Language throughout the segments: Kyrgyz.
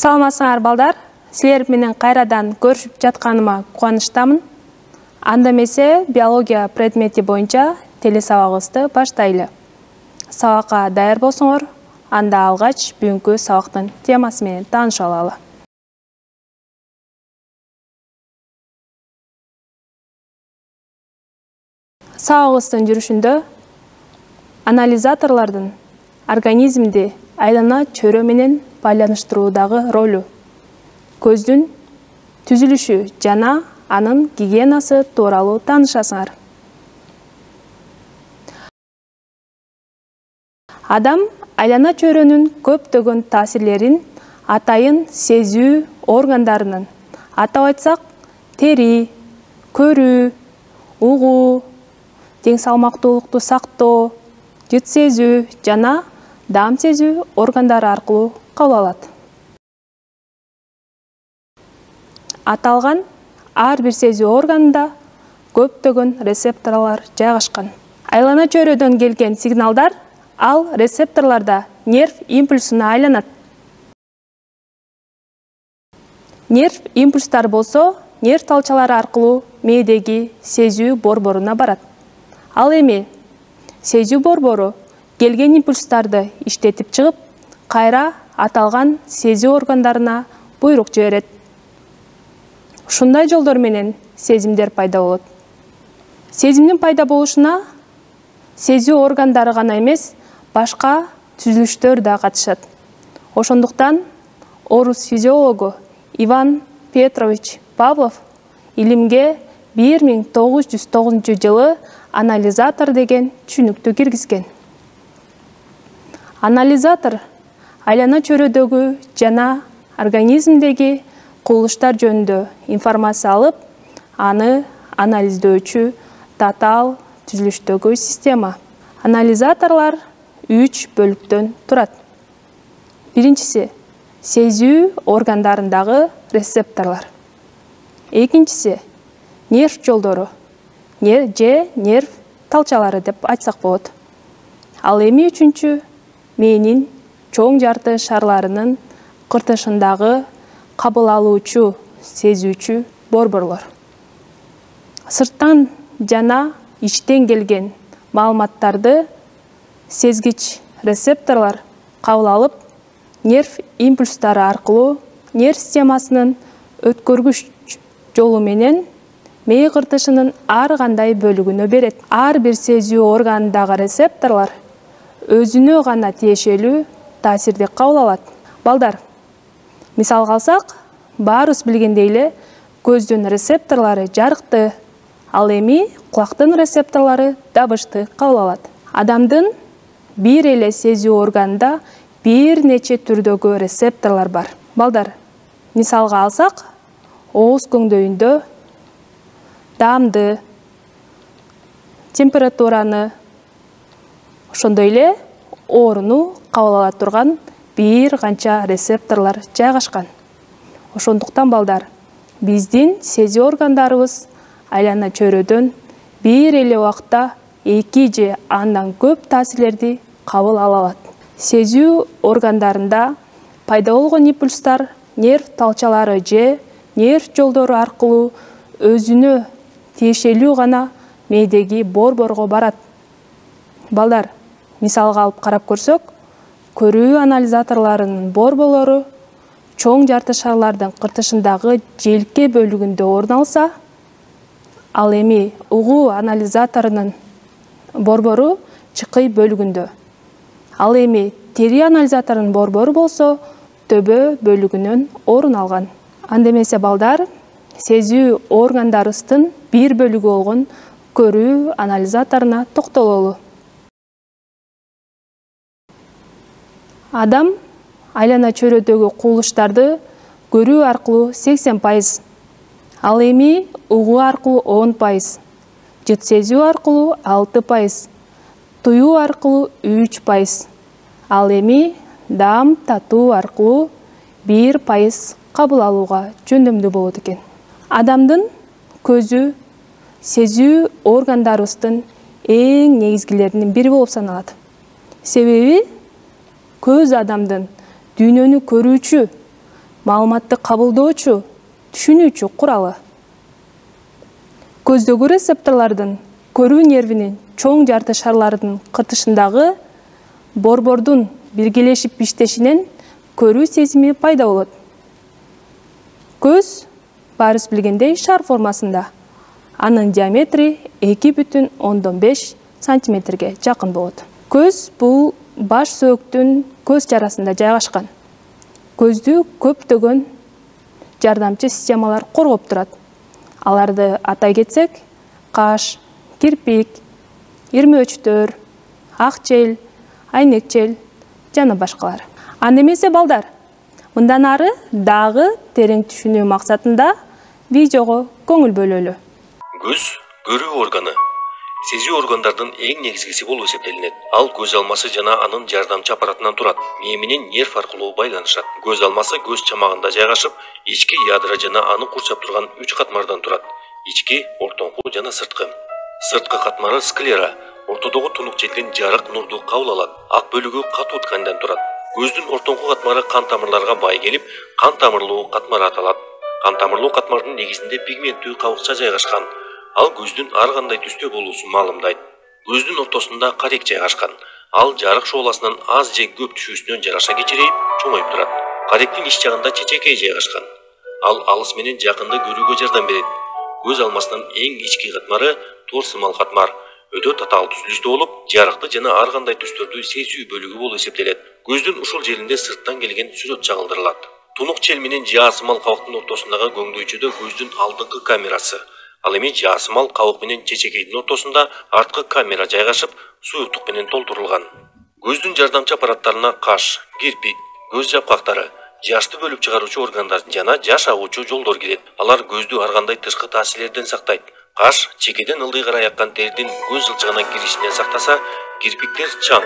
Саламатсыңар балдар, силер менен кайрадан көрүшүп жатканыма кубанычтамын. Анда эмесе биология предмети боюнча телесабагыбызды баштайлы. Сабакка даяр болсоңор, анда алгач бүгүнкү сабактын темасы менен тааныша алалы. Сабагыбыздын жүрүшүндө анализаторлордун организмди айлана чөйрө менен байланыштыруудагы ролу, көздүн түзүлүшү жана анын гигиенасы тууралуу таанышасыңар. Адам айлана чөйрөнүн көптөгөн таасирлерин атайын сезүү органдарынын, атап айтсак, тери, көрүү, угуу, тең салмактуулукту сактоо, жыт сезүү жана даам сезүү органдары аркылуу кабыл алат. Аталган ар бир сезүү органында көптөгөн рецепторлор жайгашкан. Айлана чөйрөдөн келген сигналдар ал рецепторлордо нерв импульсуна айланат. Нерв импульстары болсо нерв талчалары аркылуу мээдеги сезүү борборуна барат. Ал эми сезүү борбору келген импульстарды иштетип чыгып, кайра аталган сезүү органдарына буйрук жиберет. Ушундай жолдор менен сезимдер пайда болот. Сезимдин пайда болушуна сезүү органдары гана эмес, башка түзүлүштөр да катышат. Ошондуктан орус физиологу Иван Петрович Павлов илимге 1909-жылы анализатор деген түшүнүктү киргизген. Анализатор айлана чөйрөдөгү жана организмдеги кубулуштар жөнүндө информация алып, аны анализдөөчү татаал түзүлүштөгү система. Анализаторлор 3 бөлүктөн турат. Биринчиси сезүү органдарындагы рецепторлор. Экинчиси нерв жолдору, же нерв талчалары деп айтсак болот. Ал эми үчүнчү мээнин чоң жарты шарларынын кыртышындагы кабыл алуучу, сезүүчү борборлор. Сырттан жана ичтен келген маалыматтарды сезгич рецепторлор кабыл алып, нерв импульстары аркылуу нерв системасынын өткөргүч жолу менен мээ кыртышынын ар кандай бөлүгүнө берет. Ар бир сезүү органындагы рецепторлор өзүнө гана тиешелүү таасирди кабыл алат. Балдар, мисалга алсак, баарыбыз билгендей эле көздүн рецепторлору жарыкты, ал эми кулактын рецепторлору дабышты кабыл алат. Адамдын бир эле сезүү органында бир нече түрдөгү рецепторлор бар. Балдар, мисалга алсак, ооз көңдөйүндө даамды, температураны, ошондой эле ооруну кабыл ала турган бир канча рецепторлор жайгашкан. Ошондуктан балдар, биздин сезүү органдарыбыз айлана чөйрөдөн бир эле убакта 2 же андан көп таасирлерди кабыл ала алат. Сезүү органдарында пайда болгон импульстар нерв талчалары же нерв жолдору аркылуу өзүнө тиешелүү гана мээдеги борборго барат. Балдар, мисалга алып карап көрсөк, көрүү анализаторлорунун борборлору чоң жарты шарлардын кыртышындагы желке бөлүгүндө орун алса, ал эми угуу анализаторунун борбору чыкый бөлүгүндө. Ал эми тери анализаторунун борбору болсо төбө бөлүгүнөн орун алган. Анда эмесе балдар, сезүү органдарыбыздын бир бөлүгү болгон көрүү анализаторуна токтололу. Адам айлана чөйрөдөгү кубулуштарды көрүү аркылуу 80%, ал эми угуу аркылуу 10%, жыт сезүү аркылуу 6%, туюу аркылуу 3%, ал эми даам татуу аркылуу 1% кабыл алууга жөндөмдүү болот экен. Адамдын көзү сезүү органдарыбыздын эң негизгилеринин бири болуп саналат. Себеби көз адамдын дүйнөнү көрүүчү маалыматты кабылдоочу, түшүнүүчү куралы. Көздөгү рецепторлордун көрүү нервинин чоң жарты шарларынын кыртышындагы борбордун биргелешип иштешинен көрүү сезими пайда болот. Көз баарыбыз билгендей шар формасында. Анын диаметри 2,5 сантиметрге жакын болот. Көз бул баш сөөктүн көз чарасында жайгашкан. Көздү көптөгөн жардамчы системалар коргоп турат. Аларды атай кетсек, каш, кирпик, ирмөөчтөр, ак чел, айнек чел жана башкалар. Анда эмесе балдар, мындан ары дагы терең түшүнүү максатында видеого көңүл бөлөлү. Көз көрүү органы. Сезүү органдардын эң негизгиси болуп эсептелинет. Ал көз алмасы жана анын жардамчы аппаратынан турат. Мээ менен нерв аркылуу байланышат. Көз алмасы көз чамагында жайгашып, ички ядра жана аны курчап турган 3 катмардан турат. Ички, ортоңку жана сырткы. Сырткы катмары склера. Ортодогу тунук челден жарык нурду кабыл алат. Ак бөлүгү катуу тканьдан турат. Көздүн ортоңку катмары кан тамырларга бай келип, кан тамырлуу катмар аталат. Кан тамырлуу катмардын негизинде пигменттүү кабыкча жайгашкан. Ал көздүн ар кандай түстө болуусун маалымдайт. Көздүн ортосунда карек жайгашкан. Ал жарык шооласынан аз же көп түшүүсүнөн жараша кичирейип, чоңоюп турат. Каректин ич жагында чечекей жайгашкан. Ал алыс менен жакынды көрүүгө жардам берет. Көз алмасынын эң ички катмары тор сымал катмар. Өтө татаал түзүлүштө болуп, жарыкты жана ар кандай түстөрдү сезүү бөлүгү болуп эсептелет. Көздүн ушул жеринде сырттан келген сүрөт чагылдырылат. Тунук чел менен жаа сымал кабыктын ортосундагы көңдөйчөдө көздүн алдыңкы камерасы. Ал эми жаа сымал кабык менен чечекейдин ортосунда арткы камера жайгашып, суюктук менен толтурулган. Көздүн жардамчы аппараттарына каш, кирпик, көз жапкактары, жашты бөлүп чыгаруучу органдар жана жаш агуучу жолдор кирет. Алар көздү ар кандай тышкы таасирлерден сактайт. Каш чекеден ылдый карай аккан тердин көз жылчыгына киришинен сактаса, кирпиктер чаң,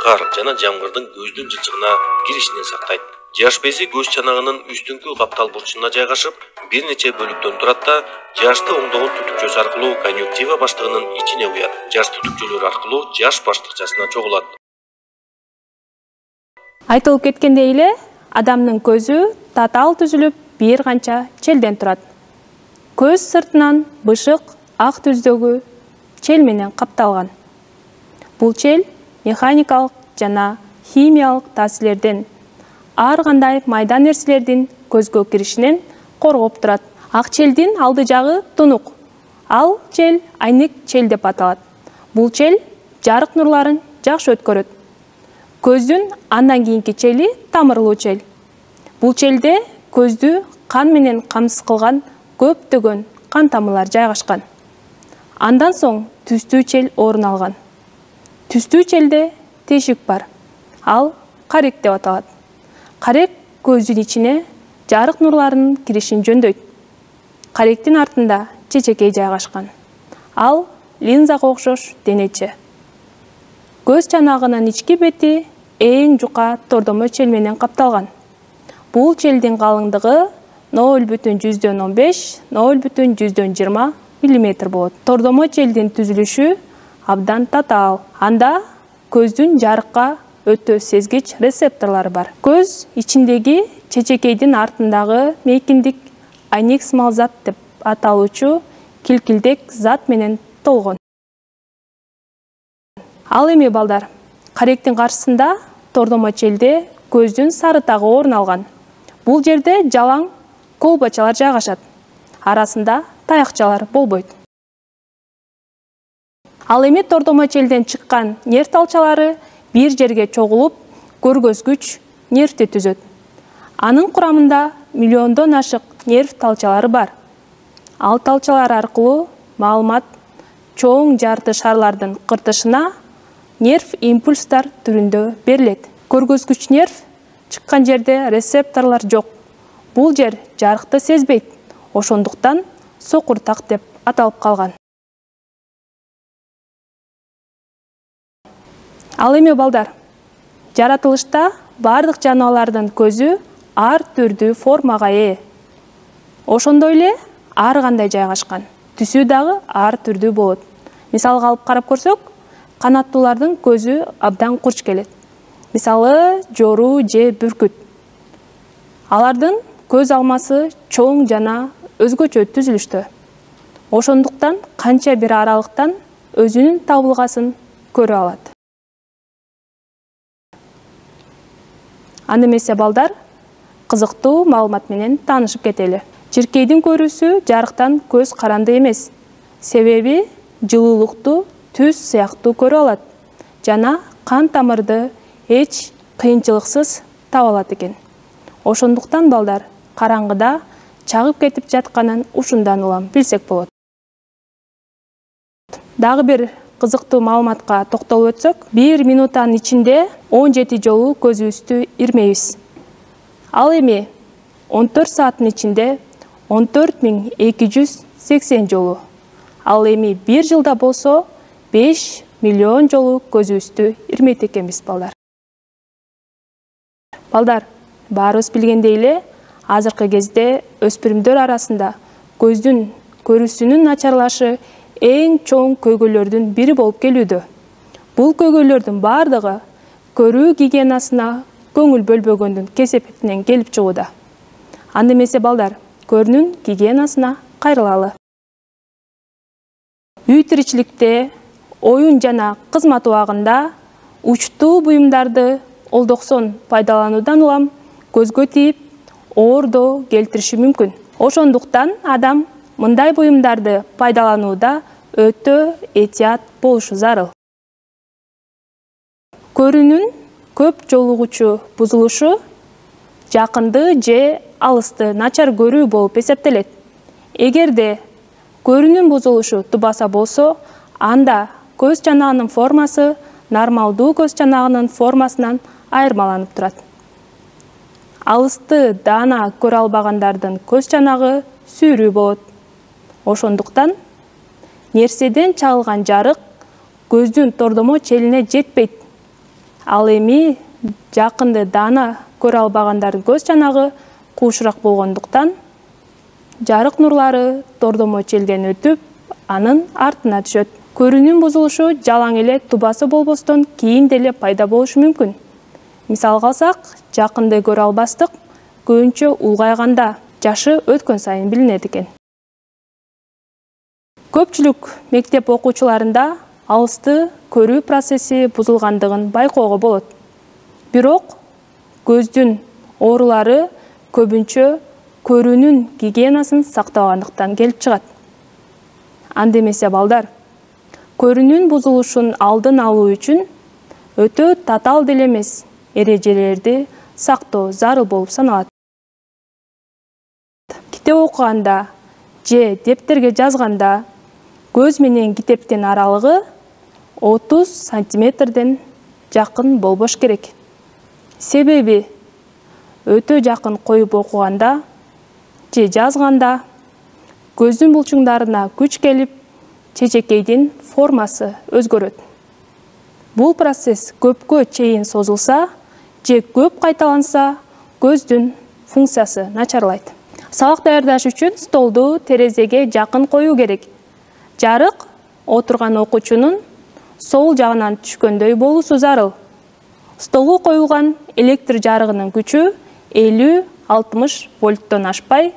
кар жана жамгырдын көздүн жылчыгына киришинен сактайт. Жаш бези көз чанагынын үстүңкү каптал бурчуна жайгашып, бир нече бөлүктөн турат да, жашты оңдогон түтүкчөсү аркылуу конъюнктива баштыгынын ичине куят. Жаш түтүкчөлөр аркылуу жаш баштыкчасына чогулат. Айтылып кеткендей эле, адамдын көзү татаал түзүлүп, бир канча челден турат. Көз сыртынан бышык, ак түздөгү чел менен капталган. Бул чел механикалык жана химиялык таасирлерден, ар кандай майда нерселердин көзгө киришинен коргоп турат. Ак челдин алды жагы тунук. Ал чел айнек чел деп аталат. Бул чел жарык нурларын жакшы өткөрөт. Көздүн андан кийинки чели тамырлуу чел. Бул челде көздү кан менен камсыз кылган көптөгөн кан тамырлар жайгашкан. Андан соң түстүү чел орун алган. Түстүү челде тешик бар. Ал карек деп аталат. Карек көздүн ичине жарык нурларынын киришин жөндөйт. Каректин артында чечекей жайгашкан. Ал линзага окшош денече. Көз чанагынын ички бети эң жука тордомо чел менен капталган. Бул челдин калыңдыгы 0,15–0,20 мм болот. Тордомо челдин түзүлүшү абдан татаал. Анда көздүн жарыкка өтө сезгич рецепторлору бар. Көз ичиндеги чечекейдин артындагы мейкиндик айнек сымал зат деп аталуучу килкилдек зат менен толгон. Ал эми балдар, каректин каршысында тордомо челде көздүн сарытагы орун алган. Бул жерде жалаң колбачалар жайгашат. Арасында таякчалар болбойт. Ал эми тордомо челден чыккан нерв талчалары бир жерге чогулуп, көргөзгүч нервти түзөт. Анын курамында миллиондон ашык нерв талчалары бар. Ал талчалар аркылуу маалымат чоң жарты шарлардын кыртышына нерв импульстар түрүндө берилет. Көргөзгүч нерв чыккан жерде рецепторлор жок. Бул жер жарыкты сезбейт. Ошондуктан сокур так деп аталып калган. Ал эми балдар, жаратылышта бардык жаныбарлардын көзү ар түрдүү формага ээ. Ошондой эле ар кандай жайгашкан. Түсү дагы ар түрдүү болот. Мисалга алып карап көрсөк, канаттуулардын көзү абдан курч келет. Мисалы, жору же бүркүт. Алардын көз алмасы чоң жана өзгөчө түзүлүштө. Ошондуктан канча бир аралыктан өзүнүн табылгасын көрө алат. Анда эмесе балдар, кызыктуу маалымат менен таанышып кетели. Жиркейдин көрүүсү жарыктан көз каранды эмес. Себеби жылуулукту түз сыяктуу көрө алат жана кан тамырды эч кыйынчылыксыз таба алат экен. Ошондуктан балдар, караңгыда чагып кетип жатканын ушундан улам билсек болот. Дагы бир кызыктуу маалыматка токтолуп өтсөк, 1 минуттан ичинде 17 жолу көзүбүздү ирмейбиз. Ал эми 14 сааттын ичинде 14280 жолу. Ал эми 1 жылда болсо 5 миллион жолу көзүбүздү ирмейт экенбиз балдар. Балдар, баарыбыз билгендей эле, азыркы кезде өспүрүмдөр арасында көздүн көрүүсүнүн начарлашы эң чоң көйгөйлөрдүн бири болуп келүүдө. Бул көйгөйлөрдүн бардыгы көрүү гигиенасына көңүл бөлбөгөндүн кесепетинен келип чыгууда. Анда эмесе балдар, көрүүнүн гигиенасына кайрылалы. Үй тиричиликте, оюн жана кызмат убагында учтуу буюмдарды олдоксон пайдалануудан улам көзгө тийип, оордоо келтириши мүмкүн. Ошондуктан адам мындай буюмдарды пайдаланууда өтө этият болушу зарыл. Көрүүнүн көп жолугучу бузулушу жакынды же алысты начар көрүү болуп эсептелет. Эгерде көрүүнүн бузулушу тубаса болсо, анда көз чанагынын формасы нормалдуу көз чанагынын формасынан айырмаланып турат. Алысты даана көрө албагандардын көз чанагы сүүрүү болот. Ошондуктан нерседен чагылган жарык көздүн тордомо челине жетпейт. Ал эми жакынды даана көрө албагандардын көз чанагы куушураак болгондуктан жарык нурлары тордомо челден өтүп, анын артына түшөт. Көрүүнүн бузулушу жалаң эле тубасы болбостон кийин деле пайда болушу мүмкүн. Мисалга алсак, жакынды көрө албастык көбүнчө улгайганда, жашы өткөн сайын билинет экен. Көпчүлүк мектеп окуучуларында алысты көрүү процесси бузулгандыгын байкоого болот. Бирок көздүн оорулары көбүнчө көрүүнүн гигиенасын сактабагандыктан келип чыгат. Анда эмесе балдар, көрүүнүн бузулушун алдын алуу үчүн өтө татаал деле эмес эрежелерди сактоо зарыл болуп саналат. Китеп окуганда же дептерге жазганда көз менен китептин аралыгы 30 сантиметрден жакын болбош керек. Себеби өтө жакын коюп окуганда же жазганда көздүн булчуңдарына күч келип, чечекейдин формасы өзгөрөт. Бул процесс көпкө чейин созулса же көп кайталанса, көздүн функциясы начарлайт. Сабак даярдаш үчүн столду терезеге жакын коюу керек. Жарык отурган окуучунун сол жагынан түшкөндөй болуусу зарыл. Столго коюлган электр жарыгынын күчү 50-60 вольттон ашпай,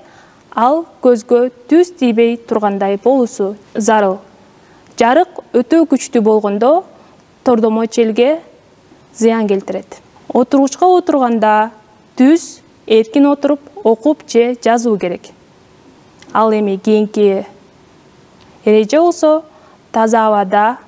ал көзгө түз тийбей тургандай болуусу зарыл. Жарык өтө күчтүү болгондо тордомо челге зыян келтирет. Отургучка отурганда түз эркин отуруп окуп же жазуу керек. Ал эми кийинки эреже болсо таза абада,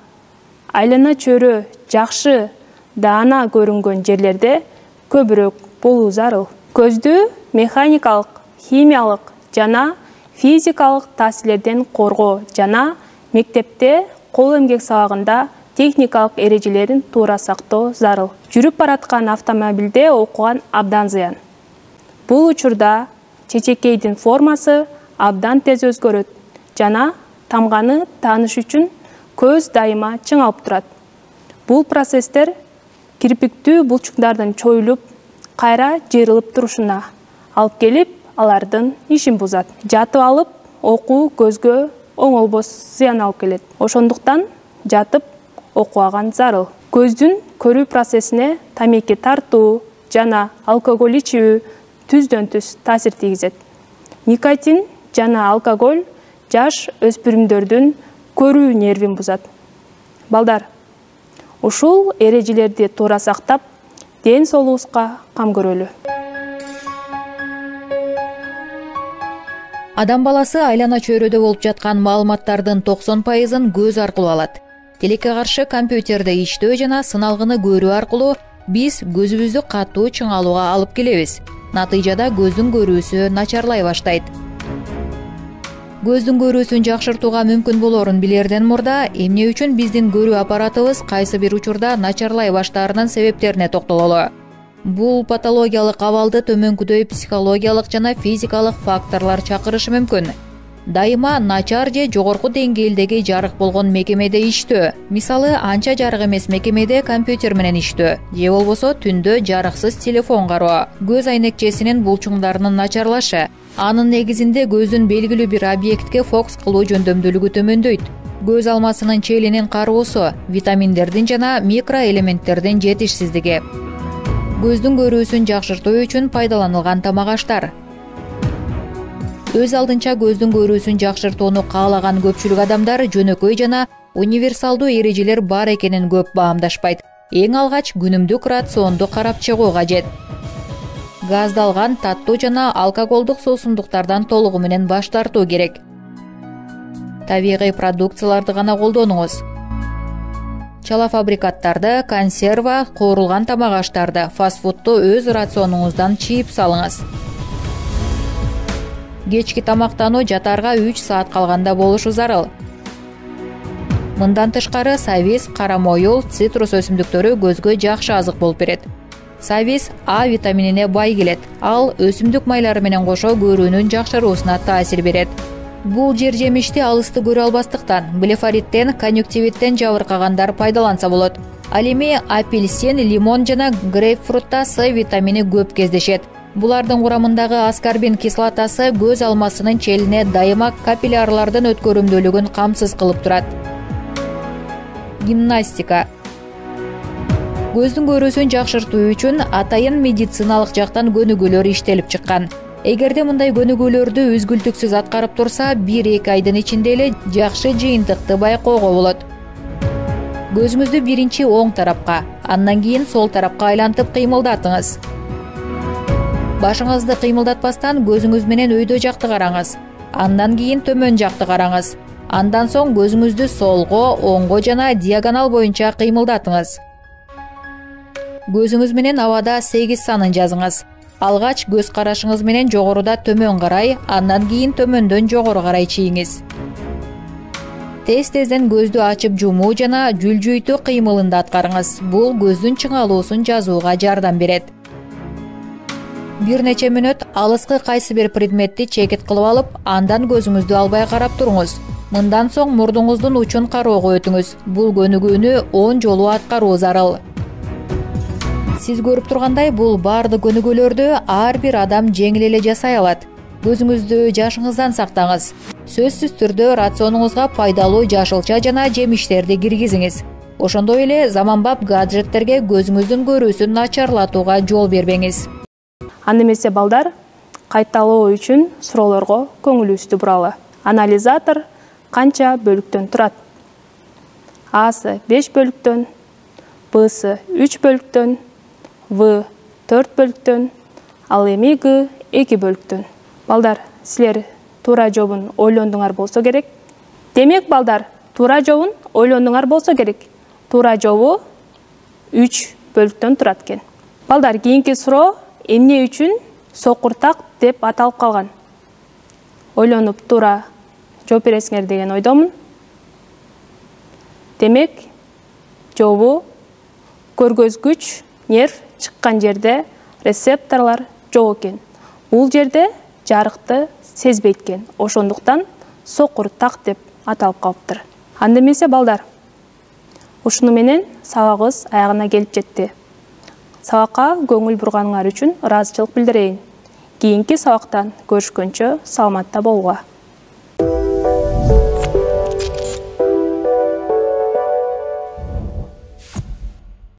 айлана чөйрө жакшы даана көрүнгөн жерлерде көбүрөөк болуу зарыл. Көздү механикалык, химиялык жана физикалык таасирлерден коргоо жана мектепте кол эмгек сабагында техникалык эрежелерин туура сактоо зарыл. Жүрүп бараткан автомобилде окуган абдан зыян. Бул учурда чечекейдин формасы абдан тез өзгөрөт жана тамганы тааныш үчүн көз дайыма чыңалып турат. Бул процесстер кирпиктүү булчуңдардын чоюлуп, кайра жыйрылып турушуна алып келип, алардын ишин бузат. Жатып алып окуу көзгө оңолбос зыян алып келет. Ошондуктан жатып окубаган зарыл. Көздүн көрүү процессине тамеки тартуу жана алкоголь ичүү түздөн түз таасир тийгизет. Никотин жана алкоголь жаш өспүрүмдөрдүн көрүү нервин бузат. Балдар, ушул эрежелерди туура сактап, ден соолугубузга кам көрөлү. Адам баласы айлана чөйрөдө болуп жаткан маалыматтардын 90%-ын көз аркылуу алат. Телекке каршы компьютерде иштөө жана сыналгыны көрүү аркылуу биз көзүбүздү катуу чыңалууга алып келебиз. Натыйжада көздүн көрүүсү начарлай баштайт. Көздүн көрүүсүн жакшыртууга мүмкүн болорун билерден мурда эмне үчүн биздин көрүү аппаратыбыз кайсы бир учурда начарлай баштаарынын себептерине токтололу. Бул патологиялык абалды төмөнкүдөй психологиялык жана физикалык факторлор чакырышы мүмкүн. Дайыма начар же жогорку деңгээлдеги жарык болгон мекемеде иштөө, мисалы анча жарык эмес мекемеде компьютер менен иштөө, же болбосо түндө жарыксыз телефон кароо, көз айнекчесинин булчуңдарынын начарлашы, анын негизинде көздүн белгилүү бир объектке фокус кылуу жөндөмдүүлүгү төмөндөйт. Көз алмасынын челинин кароосу, витаминдердин жана микроэлементтердин жетишсиздиги. Көздүн көрүүсүн жакшыртуу үчүн пайдаланылган тамак-аштар. Өз алдынча көздүн көрүүсүн жакшыртууну каалаган көпчүлүк адамдар жөнөкөй жана универсалдуу эрежелер бар экенин көп баамдашпайт. Эң алгач күнүмдүк рационду карап чыгуу кажет. Газдалган таттуу жана алкоголдук суусундуктардан толугу менен баш тартуу керек. Табигый продукцияларды гана колдонуңуз. Чала фабрикаттарды, консерва, куурулган тамак-аштарды, фастфудту өз рационуңуздан чийип салыңыз. Кечки тамактануу жатаарга 3 саат калганда болушу зарыл. Мындан тышкары сабиз, кара моюл, цитрус өсүмдүктөрү көзгө жакшы азык болуп берет. Сабиз А витаминине бай келет. Ал өсүмдүк майлары менен кошо көрүүнүн жакшыруусуна таасир берет. Бул жер жемишти алысты көрө албастыктан, блефориттен, конъюнктивиттен жабыркагандар пайдаланса болот. Ал эми апельсин, лимон жана грейпфрутта С витамини көп кездешет. Булардын курамындагы аскорбин кислотасы көз алмасынын челине дайыма капиллярлардын өткөрүмдүүлүгүн камсыз кылып турат. Гимнастика. Көздүн көрүүсүн жакшыртуу үчүн атайын медициналык жактан көнүгүүлөр иштелип чыккан. Эгерде мындай көнүгүүлөрдү үзгүлтүксүз аткарып турса, 1-2 айдын ичинде эле жакшы жыйынтыкты байкоого болот. Көзүңүздү биринчи оң тарапка, андан кийин сол тарапка айлантып кыймылдатыңыз. Башыңызды кыймылдатпастан көзүңүз менен өйдө жакты караңыз. Андан кийин төмөн жакты караңыз. Андан соң көзүңүздү солго, оңго жана диагонал боюнча кыймылдатыңыз. Көзүңүз менен абада 8 санын жазыңыз. Алгач көз карашыңыз менен жогоруда төмөн карай, андан кийин төмөндөн жогору карай чийиңиз. Тез-тезден көздү ачып жумуу жана жүлжүйтүү кыймылын да аткарыңыз. Бул көздүн чыңалуусун жазууга жардам берет. Бир нече мүнөт алыскы кайсы бир предметти чекит кылып алып, андан көзүңүздү албай карап туруңуз. Мындан соң мурдуңуздун учун кароого өтүңүз. Бул көнүгүүнү 10 жолу аткаруу зарыл. Сиз көрүп тургандай, бул баардык көнүгүүлөрдү ар бир адам жеңил эле жасай алат. Көзүңүздү жашыңыздан сактаңыз. Сөзсүз түрдө рационуңузга пайдалуу жашылча жана жемиштерди киргизиңиз. Ошондой эле заманбап гаджеттерге көзүңүздүн көрүүсүн начарлатууга жол бербеңиз. Анда эмесе балдар, кайталоо үчүн суроолорго көңүлүбүздү буралы. Анализатор канча бөлүктөн турат? Асы 5 бөлүктөн, Б'сы 3 бөлүктөн, В 4 бөлүктөн, ал эми Г 2 бөлүктөн. Балдар, силер туура жообун ойлондуңар болсо керек. Демек, балдар, туура жообун ойлондуңар болсо керек. Туура жообу 3 бөлүктөн турат экен. Балдар, кийинки суроо эмне үчүн сокуртак деп аталып калган? Ойлонуп туура жооп бересиңер деген ойдомун. Демек, жообу көргөзгүч нерв чыккан жерде рецепторлор жок экен. Бул жерде жарыкты сезбейт экен. Ошондуктан сокуртак деп аталып калыптыр. Анда эмесе балдар, ушуну менен сабагыбыз аягына келип жетти. Сабакка көңүл бурганыңар үчүн ыраазычылык билдирейин. Кийинки сабактан көрүшкөнчө саламатта болууга.